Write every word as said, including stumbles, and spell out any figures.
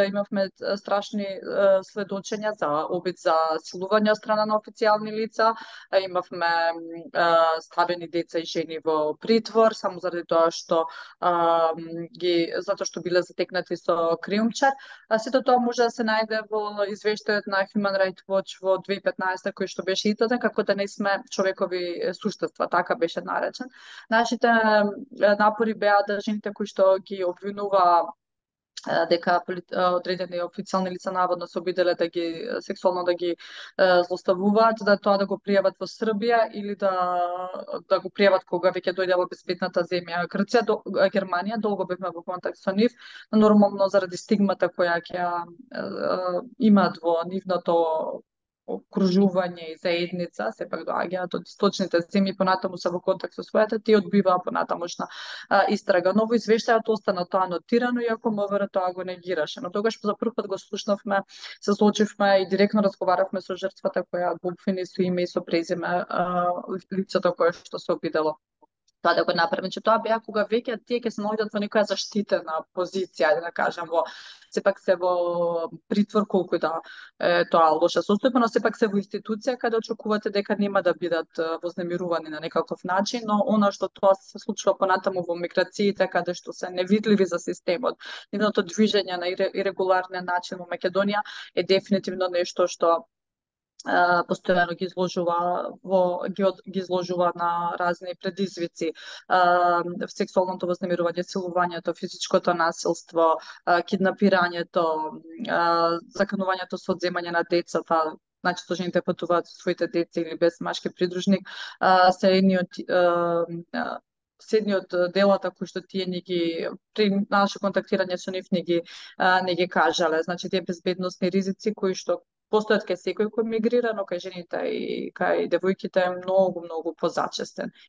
имавме страшни сведочења за обид за силување од страна на официјални лица, имавме ставени деца и жени во притвор само заради тоа што ги затоа што биле затекнати со криумчар. Сето тоа може да се најде во извештајот на Human Rights Watch во две илјади и петнаесета кој што беше издаден како да не сме човекови суштества, така беше наречен. Нашите напори беа да жените кои што ги обвинува дека одредени официјални лица наводно се обиделе да ги сексуално да ги злоставуваат, да тоа да го пријават во Србија или да да го пријават кога веќе дојде во безбедната земја Грција, до, Германија, долго бевме во контакт со нив, нормално заради стигмата која ќе имаат во нивното окружување и заедница, сепак доаѓаат од источните земји, понатаму се во контакт со својата, тие одбиваа понатамошна истрага. Но во извештајот остана тоа нотирано, иако МВР тоа го негираше. Но тогаш за прв пат го слушнавме, се случивме и директно разговаравме со жртвата која го обвини со име и со презиме лицето кое што се обидело тоа да го направи. Че тоа беа кога веќе тие ќе се наоѓаат во некоја заштитена позиција, да кажам, во сепак се во притвор, колку и да е тоа лоша состојба, но сепак се во институција каде очекувате дека нема да бидат вознемирувани на некаков начин, но она што тоа се случува понатаму во миграциите, каде што се невидливи за системот, нивното движење на ирегуларен начин во Македонија е дефинитивно нешто што постојано ги изложува во ги, ги изложува на разни предизвици, сексуалното вознемирување, силувањето, физичкото насилство, киднапирањето, заканувањето со одземање на децата, значи што жените патуваат со своите деца или без машки придружник, се едни од седни од делата кои што тие не ги при наше контактирање со нив не ги не ги кажале, значи тие безбедносни ризици кои што постојат кај секој кој мигрира, но кај жените и кај девојките е многу, многу позачестен.